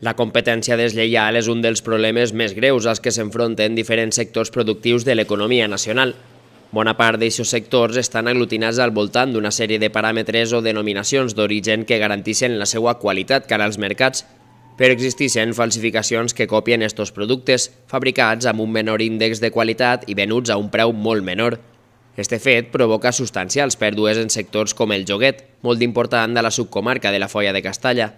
La competència deslleial és un dels problemes més greus als que s'enfronten diferents sectors productius de l'economia nacional. Bona part d'aixos sectors estan aglutinats al voltant d'una sèrie de paràmetres o denominacions d'origen que garanteixen la seva qualitat cara als mercats, però existeixen falsificacions que copien estos productes, fabricats amb un menor índex de qualitat i venuts a un preu molt menor. Este fet provoca substancials pèrdues en sectors com el joguet, molt important de la subcomarca de la Foia de Castalla.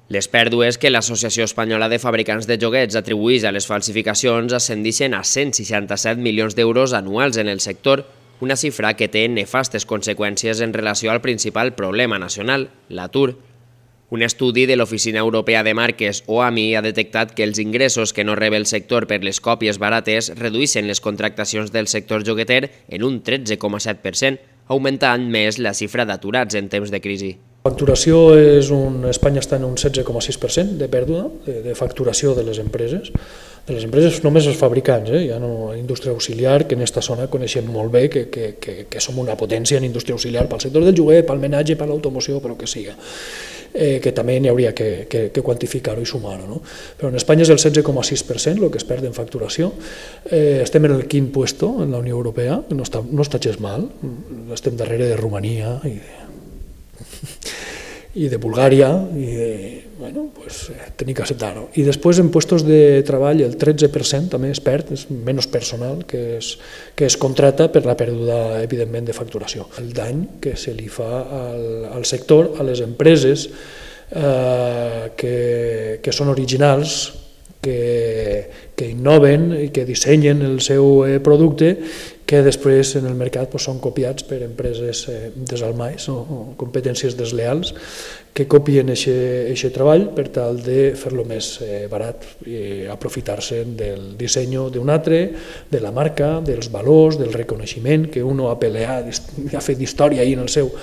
Les pèrdues que l'Associació Espanyola de Fabricants de Joguets atribueix a les falsificacions ascendeixen a 167 milions d'euros anuals en el sector, una xifra que té nefastes conseqüències en relació al principal problema nacional, l'atur. Un estudi de l'Oficina Europea de Marques, OAMI, ha detectat que els ingressos que no rep el sector per les còpies barates redueixen les contractacions del sector jogueter en un 13,7%, augmentant més la xifra d'aturats en temps de crisi. La facturació Espanya està en un 16,6% de pèrdua de facturació de les empreses. De les empreses només els fabricants, ja no indústria auxiliar, que en aquesta zona coneixem molt bé que som una potència en indústria auxiliar pel sector del joguet, pel menatge, per l'automoció, per el que siga. Que també n'hi hauria que quantificar-ho i sumar-ho. No? Però en Espanya és el 16,6% el que es perd en facturació. Estem en el quint puesto en la Unió Europea, no està gens mal, estem darrere de Romania i de Bulgària, i tenim que acceptar-ho. I després en puestos de treball el 13% també es perd, és menys personal que es contracta per la pèrdua, evidentment, de facturació. El dany que se li fa al sector, a les empreses que són originals, que innoven i que dissenyen el seu producte, que després en el mercat són copiats per empreses desalmais o competències desleals que copien aquest treball per tal de fer-lo més barat i aprofitar-se del disseny d'un altre, de la marca, dels valors, del reconeixement que un ha peleat, ha fet història en el seu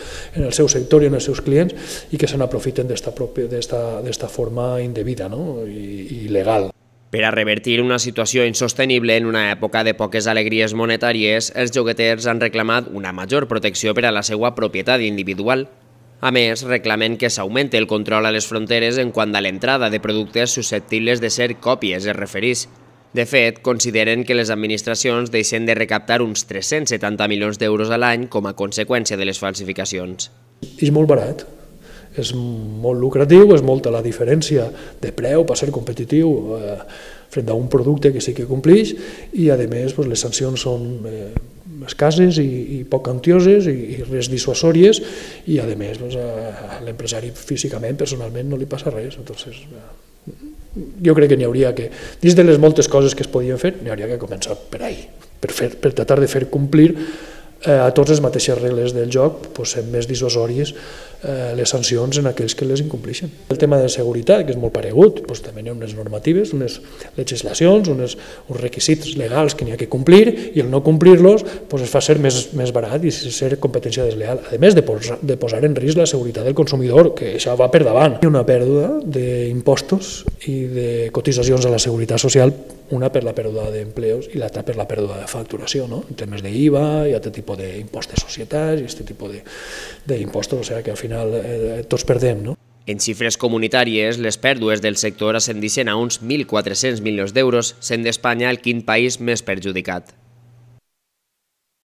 sector i en els seus clients, i que se n'aprofiten d'esta forma indevida i il·legal. Per a revertir una situació insostenible en una època de poques alegries monetàries, els jogueters han reclamat una major protecció per a la seva propietat individual. A més, reclamen que s'augmenti el control a les fronteres en quant a l'entrada de productes susceptibles de ser còpies, es refereix. De fet, consideren que les administracions deixen de recaptar uns 370 milions d'euros a l'any com a conseqüència de les falsificacions. És molt barat. És molt lucratiu, és molta la diferència de preu per ser competitiu front a un producte que sí que compleix, i a més les sancions són escasses i poc quantioses i res dissuasòries, i a més l'empresari físicament, personalment, no li passa res. Jo crec que n'hi hauria que, dins de les moltes coses que es podien fer, n'hi hauria que començar per ahí, per tratar de fer complir a tots les mateixes regles del joc, sent més dissuasòries les sancions en aquells que les incompleixen. El tema de seguretat, que és molt paregut, també hi ha unes normatives, unes legislacions, uns requisits legals que n'hi ha que complir, i el no complir-los es fa ser més barat i ser competència desleal, a més de posar en risc la seguretat del consumidor, que això va per davant. Hi ha una pèrdua d'impostos i de cotitzacions a la seguretat social, una per la pèrdua d'empleos i l'altra per la pèrdua de facturació, en temes d'IVA i altre tipus d'impost de societats i aquest tipus d'impostos, o sigui que al final tots perdem. En xifres comunitàries, les pèrdues del sector ascendeixen a uns 1.400 milions d'euros, sent d'Espanya el quint país més perjudicat.